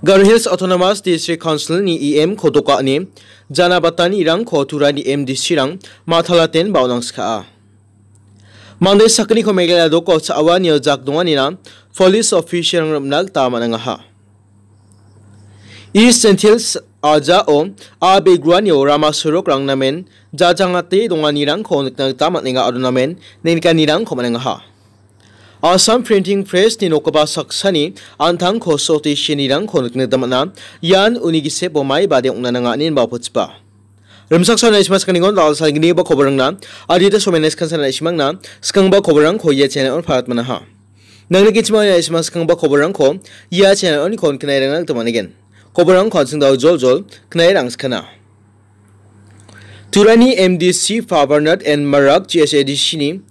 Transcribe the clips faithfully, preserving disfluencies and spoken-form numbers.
Garo Hills Autonomous District Council-ni E M-ko doka·ani jana batanirangko Turani M D C-rang matalatenba on·angskaha. Mande sakgniko Meghalaya doko cha·awanio jak donganina police official-rang rim·na gita man·angaha. East Jaintia Hills ajao a·begroanio rama sorokrang namen jajangate donganirangko nikna gita man·enga aro namen nengnikanirangko man·engaha. Assam Printing Press-ni nokgipa saksani an·tangko sote shinirangko nikna gita man·a. Ian uni gisepo maibade ong·na nanga ine inba pochipa. Rimchaksoan naisima sakaniko dal·salgni ba koborangna adita somenes kansan naisimangna skangba koborangko ia channel-on parat manaha. Nangni gichima naisima skangba koborangko ia channel-on kon knairangna gita manigen. Koborangko an·sing dao jol jol knairang skana. Turani M D C Bernard N Marak G S A D C-ni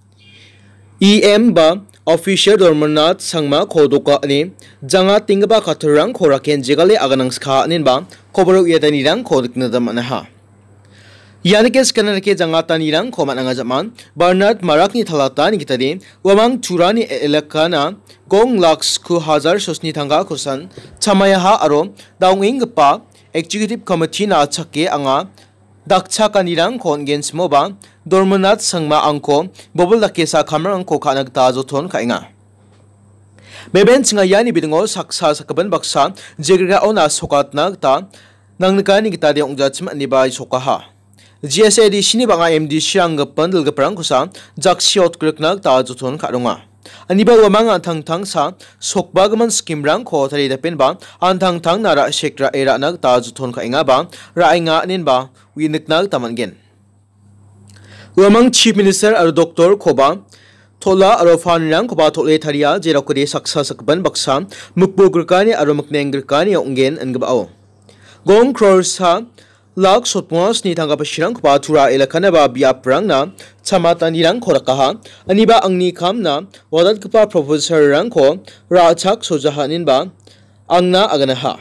E M ba official Dormonat Sangmako doka·ani jangatenggipa kattarangko raken jegale aganangskaha inenba koboro uiatanirangko nikna gita man·aha. Ianike skana dake jangatanirangko man·anga jam·an Bernard Marakni talatani gitade uamang Turani e-, elekana gong lak sku hajar sosni tangka kosan chamayaha aro daongenggipa Executive Committee-na chake anga dakchakanirangko on·gen simoba, Dormonat Sangma angko bobil dakesa kamrangko ka·na gita joton ka·enga. Beben chinga iani bidingo saksa sakgipin baksa jegrikaona sokatna gita nangnikani gitade ong·jachim ine ba sokaha. G S A D C-ni bang·a M D C-rang gipin dilgiprangkosa jaksi otgrikna gita joton ka·ronga. Aniba uamang an·tangtangsa sokbagimin scheme-rangko taridapenba an·tangtangna ra·sek ra·e ra·na gita joton ka·engaba ra·enga inenba uinikna gita man·gen. Uamang Chief Minister aro Doctor-koba tol·a aro fund-rangkoba tol·e taria, jerokode saksa sakgipin baksa mikbo grikani aro mikneng grikani ong·gen ingipao. Gong krorsa lak sotbonga sni tangka pasirangkoba Tura elakanaba biaprangna chamatanirangko rakaha. Aniba angni kamna wadatgipa professor-rangko ra·chak sojaha inenba angna aganaha.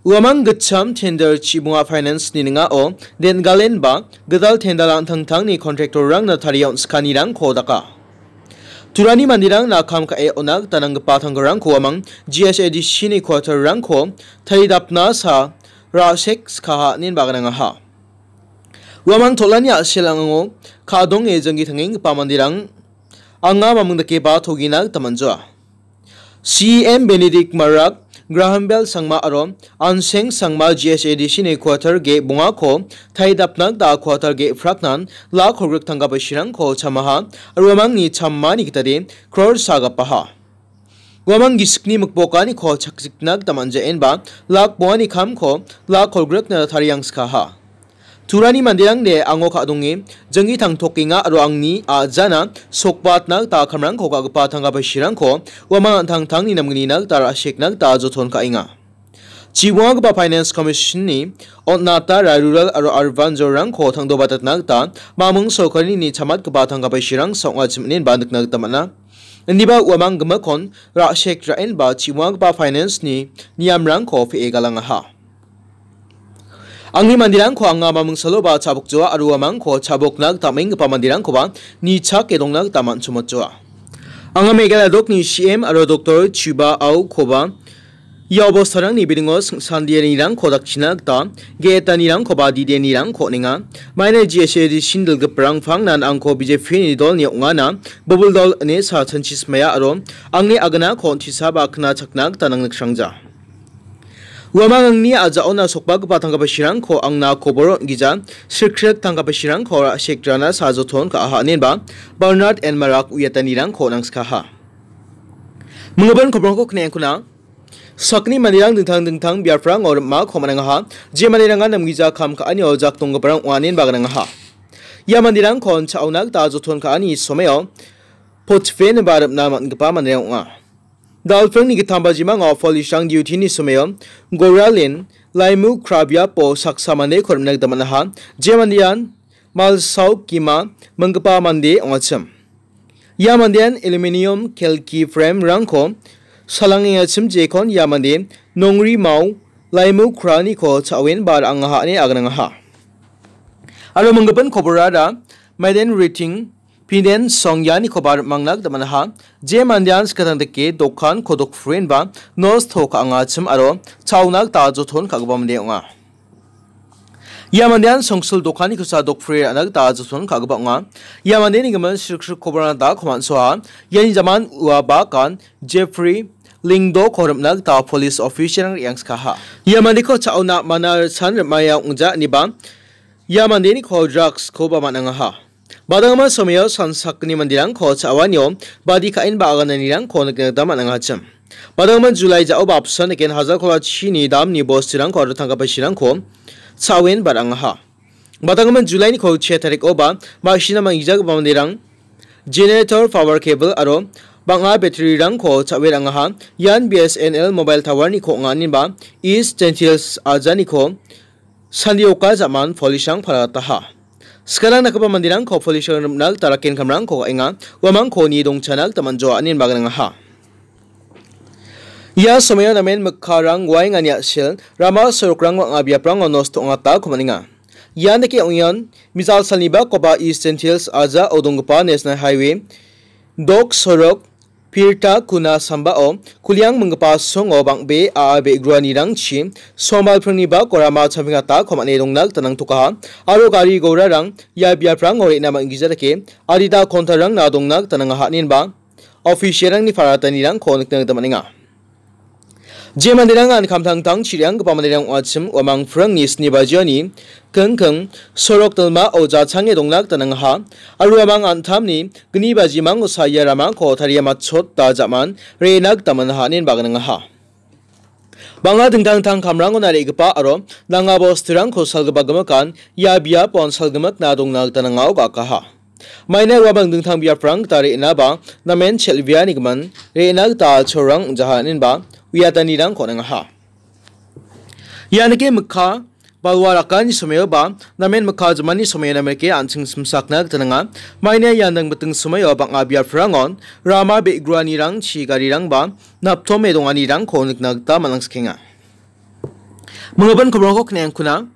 Uamang gitcham tender chibonga finance-ni ning·ao den·galenba gital tender an·tangtangni contractor-rangna taria on·skanirangko daka. Turani manderangna kam ka·e on·a gita nanggipa tangkarangko uamang G S A D C-ni quarter-rangko taridapna sa ra·sek skaha inenba aganangaha. Uamang tol·ani a·selango ka·donge janggi tangenggipa manderang anga maming dakeba togina gita man·joa. C E M Benedict Marak, Graham Bell Sangma aro Anseng Sangma G S A D C-ni quarter ge·bongako taridapna gita quarter ge·praknan lak kolgrik tangka pasirangko chamaha aro uamangni chamani gitade kror sa gapaha. Uamang gisikni mikbokaniko chakjikna gita man·jaenba lak bongani kamko lak kolgrikna tariangskaha. Turani manderangde ango ka·donge janggi tangtokenga aro angni a·jana sokbatna gita kamrangko ka·gipa tangka pasirangko uamang an·tangtangni namgnina gita ra·sekna gita joton ka·enga. Chibongagipa Finance Commission-ni on·atara rural aro urban zone-rangko tangdobatatna gita mamung sorkarini chamatgipa tangka pasirang sa ong·achim inenba nikna gita man·a. Indiba uamang gimikkon ra·sek ra·enba chibongagipa finance-ni niamrangko pe·e galangaha. Angni manderangko anga mamung saloba chabokjoa aro uamangko chabokna gita am·enggipa manderangkoba nichake dongna gita man·chomotjoa. Anga Meghalaya dokni C M aro Doctor Chuba Aokoba ia obostarangni bidingo singsandianirangko dakchina gita ge·etanirangkoba didianirangko on·enga. Maina G S A D C-ni dilgiprang pangnan angko B J P-ni dolni ong·ana bobil dol ine sa chanchi simaya aro angni aganako on·tisaba kna chakna gita nangniksrangja. Uamang angni a·jaona sokbagipa tangka pasirangko angna kobor on·gija, sikrek tangka pasirangko ra·sek rana sa joton ka·aha inenba Bernard N Marak uiatanirangko on·angskaha. Minggipa koborangko knaengkuna sakni manderang dingtang dingtang biaprango rim·ako man·angaha, je manderangan namgija kam ka·anio jak donggiparang ong·a inenba gnangaha. Ia manderangkon cha·ona gita joton ka·ani someo potpen ba rim·na man·gipa manderang ong·a. Dalprengni gittamba jimango polisrang duty-ni someo Goralen Laimu Krabiapo saksa mandeko rim·na gita man·aha, je mandean Malsau Kima minggipa mande ong·achim. Ia mandean aluminium kelki frame-rangko salangengachim jekon ia mande Nongrimao Laimu Kraniko cha·oenba ra·angaha ine agnangaha. Aro minggipa koborara maiden riting Pinen Song ianikoba rim·angna gita man·aha. Je mandean skatang dake dokan kodok frienba nosto ka·angachim aro cha·ona gita joton ka·gipa mande ong·a. Ia mandean songsil dokanni kosa dokpri ra·na gita joton ka·gipa ong·a. Ia mandeni gimin srikrikoba rangna da koman soa. Iani jaman ua bakan Jeffrey Lingdo-ko rim·na gita police official-rang re·angskaha. Ia mandeko cha·ona mana san rim·aia ong·ja iniba ia mandeniko drugs-koba man·angaha. Badanggimin somio san sakgni manderangko cha·anio badi ka·enba agananirangko nikna gita man·angachim. Badanggimin July ja·oba apsan eken hajar kola chini damni bosturangko aro tangka paisirangko cha·en ba ra·angaha. Badanggimin July-ni kolchi tarikoba ma·sina manggijagipa manderang generator, power cable aro bang·a battery-rangko cha·e ra·angaha. Ian B S N L mobile tower-niko ong·a, inenba East Gentiles ajaniko sandioka ja·man police-rang palataha. Skarang dakgipa manderangko police-rang rim·na gita raken kamrangko ka·enga, uamangko nie dongchana gita man·joa, inenba gnangaha. Ia somoio namen mikkarang waengani a·sel, rama sorokrang bang·a biaprango nosto ong·atako man·enga. Ian dake ong·ian, mejal salnibakoba East Gentiles ajao donggipa National Highway, dok sorok, Pirta kuna sambao kuliang minggipa songo bang·bea a·a be·gruanirangchi sombalpringni bako rama champengata komane dongna gita nangtokaha aro gari gorarang ia biaprango re·na man·gija dake adita kontarangna dongna gita nangaha inenba official-rangni paratanirangko nikna gita man·enga. Je manderangan kamtangtang chirianggipa manderang ong·achim uamang phrangni sni bajioni kengkeng sorok dilmao jachange dongna gita nangaha. Aro uamang an·tamni gni bajimango saia ramako taria matchota ja·man re·na gita man·aha inenba gnangaha. Bang·a dingtang dingtang kamrangona re·gipa aro nanga bosturangko salgipa gimikan ia biapon salgimikna dongna gita nangao ga·akaha. Maina uamang dingtang biaprang gita re·naba namen chel·beanigimin re·na gita cholrang ong·jaha inenba uiatanirangko nangaha. Ia nike mikka balwa rakani somoioba namen mikka jimani somoiona meke an·ching simsakna gita nanga. Maina ian dangbiting somoio bang·a biaprangon rama be·gruanirangchi garirangba naptome donganirangko nikna gita man·angsikenga. Minggipa kobrangko kne·angkuna.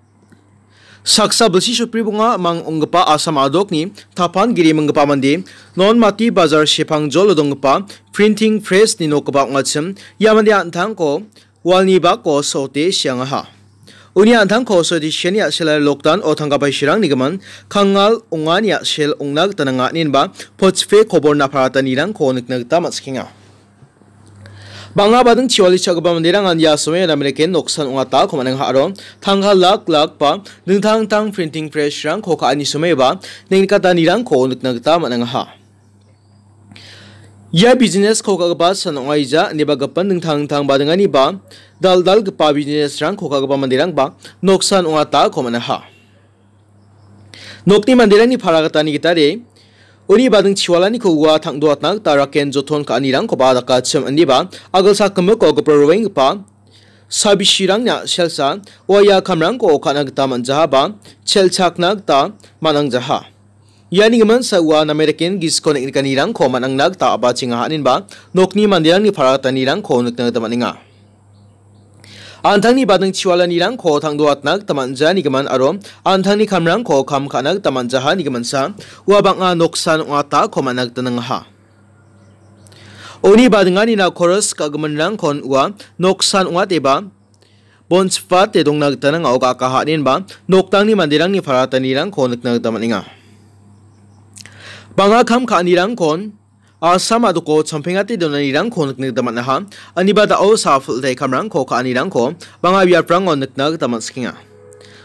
Saksa bilsi sopri bonga mang ong·gipa Assam a·dokni tapan giri minggipa mande, non mati bajar sepangjolo donggipa printing press-ni nokgipa ong·achim, ia mande an·tangko walni bako sote siangaha. Uni an·tangko sote siani a·sela lokdan o tangka paisirangni gimin kangal ong·ani a·sel ong·na gita nanga inenba pochipe koborna paratanirangko nikna gita man·sikenga. Bang·a bading chiwali cha·gipa manderangan ia somoion American noksan ong·atako man·enga aro tangka lak lak ba dingtang dingtang printing press-rangko ka·ani somoiba neng·nikatanirangko nikna gita man·engaha. Ia business-ko ka·gipa san ong·aija ineba gipin dingtang dingtang badingani ba dal·dalgipa business-rangko ka·gipa manderangba noksan ong·atako man·aha. Nokni manderangni para gitani gitade, uni bading chiwalaniko ua tang·doatna gita raken joton ka·anirangkoba dakachim indiba, agilsak gimiko gipra roenggipa sabisirangna selsa ua ia kamrangko ka·na gita man·jahaba, chelchakna gita man·angjaha. Iani giminsa ua nameriken gisiko neng·nikanirangko man·angna gita a·bachengaha, inenba nokni manderangni para gitanirangko nikna gita man·enga. An·tangni bading chiwalanirangko tang·doatna gita man·janigimin aro an·tangni kamrangko kam ka·na gita man·jahanigiminsa ua bang·a noksan ong·atako man·na gita nangaha. Uni badinganina koros ka·giminrangkon ua noksan ong·ateba bonchipate dongna gita nanga·o ga·akaha, inenba noktangni manderangni paratanirangko nikna gita man·enga. Bang·a kam ka·anirangkon Assam a·doko champengate donanirangko nikna gita man·aha. Aniba da·o sa·a pil·te kamrangko ka·anirangko bang·a biaprango nikna gita man·sikenga.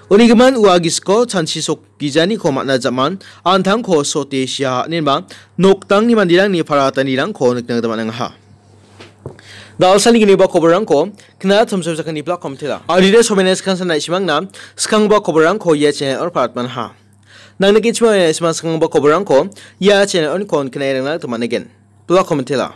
Uni gimin ua gisiko chanchi sokgijaniko man·a jaman an·tangko sote sia, inenba noktangni manderangni paratanirangko nikna gita man·angaha. Da·alsalni gniba koborrangko kna·a chomchom sakani plak komtela. Adide somene skan sanai simangna skangba koborrangko ia channel-o parat man·aha. Nangni gichimo ia simang skangba koborrangko ia channel-o nikon knairangna gita man·egen. Plak komtela.